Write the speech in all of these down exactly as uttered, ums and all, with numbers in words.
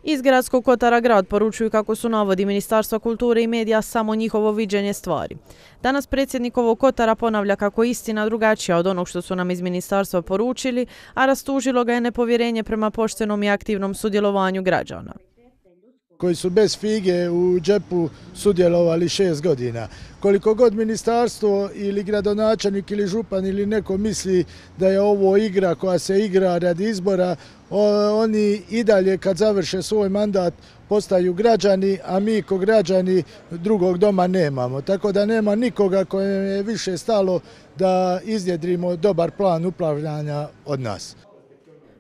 Iz Gradskog kotara grad poručuju kako su navodi Ministarstva kulture i medija samo njihovo viđenje stvari. Danas predsjednik ovog kotara ponavlja kako je istina drugačija od onog što su nam iz ministarstva poručili, a rastužilo ga je nepovjerenje prema poštenom i aktivnom sudjelovanju građana. Koji su bez fige u džepu sudjelovali šest godina. Koliko god ministarstvo ili gradonačelnik ili župan ili neko misli da je ovo igra koja se igra radi izbora, oni i dalje kad završe svoj mandat postaju građani, a mi ko građani drugog doma nemamo. Tako da nema nikoga kojem je više stalo da iznjedrimo dobar plan upravljanja od nas.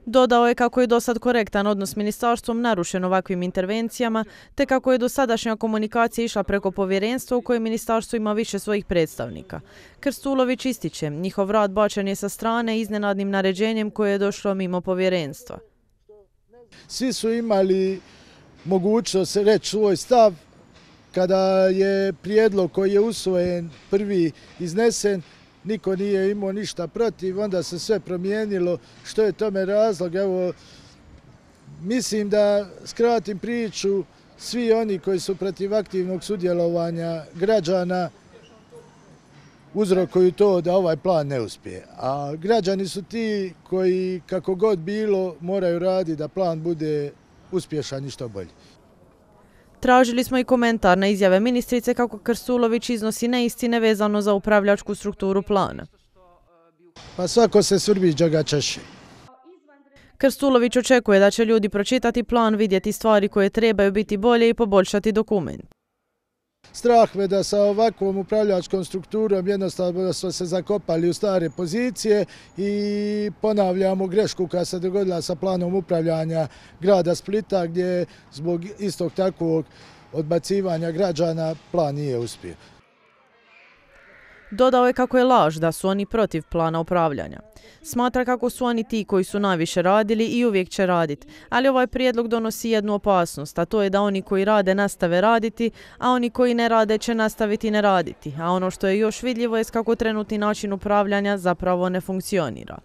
Dodao je kako je dosad korektan odnos s ministarstvom narušen ovakvim intervencijama, te kako je dosadašnja komunikacija išla preko povjerenstva u kojem ministarstvo ima više svojih predstavnika. Krstulović ističe, njihov rad bačen je sa strane iznenadnim naređenjem koje je došlo mimo povjerenstva. Svi su imali mogućnost reći svoj stav kada je prijedlog koji je usvojen prvi iznesen. Niko nije imao ništa protiv, onda se sve promijenilo. Što je tome razlog? Evo, mislim da skratim priču, svi oni koji su protiv aktivnog sudjelovanja građana uzrokuju to da ovaj plan ne uspije. A građani su ti koji, kako god bilo, moraju raditi da plan bude uspješan i što bolji. Tražili smo i komentar na izjave ministrice kako Krstulović iznosi neistine vezano za upravljačku strukturu plana. Pa svako se svrbiđa ga češi. Krstulović očekuje da će ljudi pročitati plan, vidjeti stvari koje trebaju biti bolje i poboljšati dokument. Strah me da sa ovakvom upravljačkom strukturom jednostavno smo se zakopali u stare pozicije i ponavljamo grešku koja se dogodila sa planom upravljanja grada Splita gdje zbog istog takvog odbacivanja građana plan nije uspio. Dodao je kako je laž da su oni protiv plana upravljanja. Smatra kako su oni ti koji su najviše radili i uvijek će raditi, ali ovaj prijedlog donosi jednu opasnost, a to je da oni koji rade nastave raditi, a oni koji ne rade će nastaviti ne raditi. A ono što je još vidljivo je kako trenutni način upravljanja zapravo ne funkcionira.